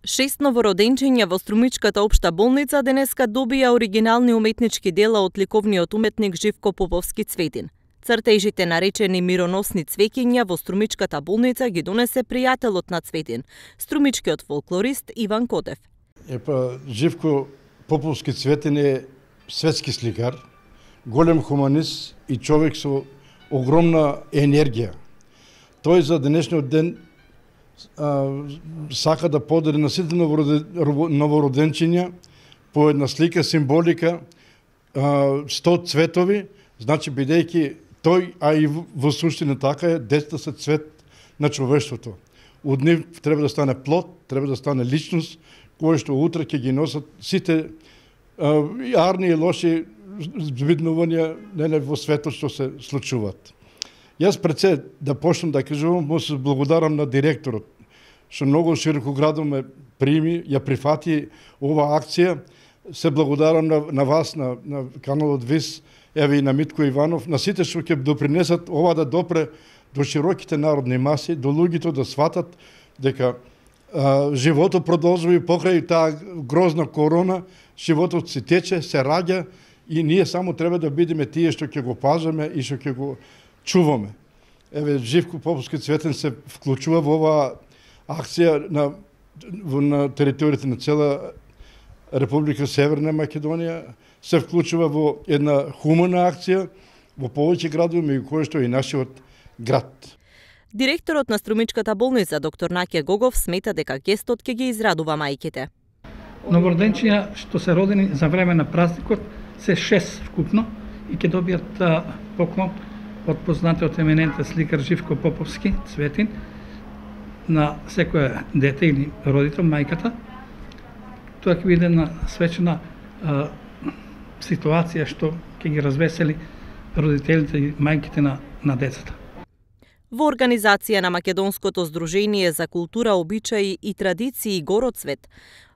6 новороденчиња во Струмичката општа болница денеска добија оригинални уметнички дела од ликовниот уметник Живко Поповски Цветин. Цртежите наречени мироносни цвеќиња во Струмичката болница ги донесе пријателот на Цветин, струмичкиот фолклорист Иван Котев. Живко Поповски Цветин е светски сликар, голем хуманист и човек со огромна енергија. Тој за денешниот ден сака да подели на сите новороденчиња по една слика, символика, 100 цветови, значи бидејќи тој, а и во суштина така е, децата се цвет на човештвото. Од нив треба да стане плод, треба да стане личност, кој што утре ќе ги носат сите арни и лоши збиднувања во светот што се случуваат. Јас пред се да почнам да кажувам, му се благодарам на директорот, што многу широкоградно ме прими, ја прифати ова акција. Се благодарам на вас, на каналот ВИС, еве и на Митко Иванов, на сите што ќе допринесат ова да допре до широките народни маси, до луѓето да сватат дека животот продолжува и покрај таа грозна корона, животот се тече, се раѓа и ние само треба да бидеме тие што ќе го пазиме и што ќе го чуваме. Еве, Живко Поповски Цветин се вклучува во оваа акција на територијата на цела Република Северна Македонија, се вклучува во една хумана акција во повеќе градови, меѓу кои што и нашиот град. Директорот на Струмичката болница, доктор Наке Гогов, смета дека гестот ќе ги израдува мајките. Новороденчиња што се родени за време на празникот се 6 вкупно и ќе добијат поклон од познатиот еминентен сликар Живко Поповски Цветин на секој дете или родител, мајката. Тоа ќе биде една свечена ситуација што ќе ги развесели родителите и мајките на децата. Во организација на Македонското здружение за култура, обичаи и традиции Гороцвет,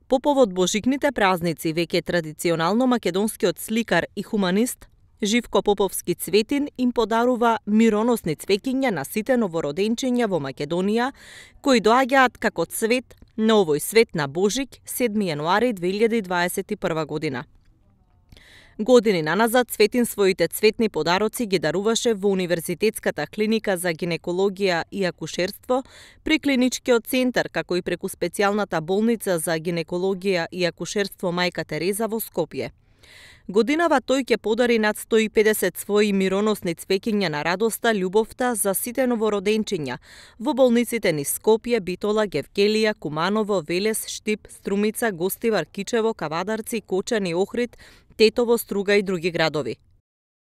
по повод божикните празници, веќе традиционално македонскиот сликар и хуманист Живко Поповски Цветин им подарува мироносни цвеќиња на сите новороденчиња во Македонија, кои доаѓаат како цвет на овој свет на Божик 7 јануари 2021 година. Години наназад Цветин своите цветни подароци ги даруваше во Универзитетската клиника за гинекологија и акушерство при клиничкиот центар, како и преку специјалната болница за гинекологија и акушерство Мајка Тереза во Скопје. Годинава тој ќе подари над 150 своји мироносни цвеќиња на радоста, љубовта за сите новороденчиња во болниците низ Скопје, Битола, Гевгелија, Куманово, Велес, Штип, Струмица, Гостивар, Кичево, Кавадарци, Кочани, Охрид, Тетово, Струга и други градови.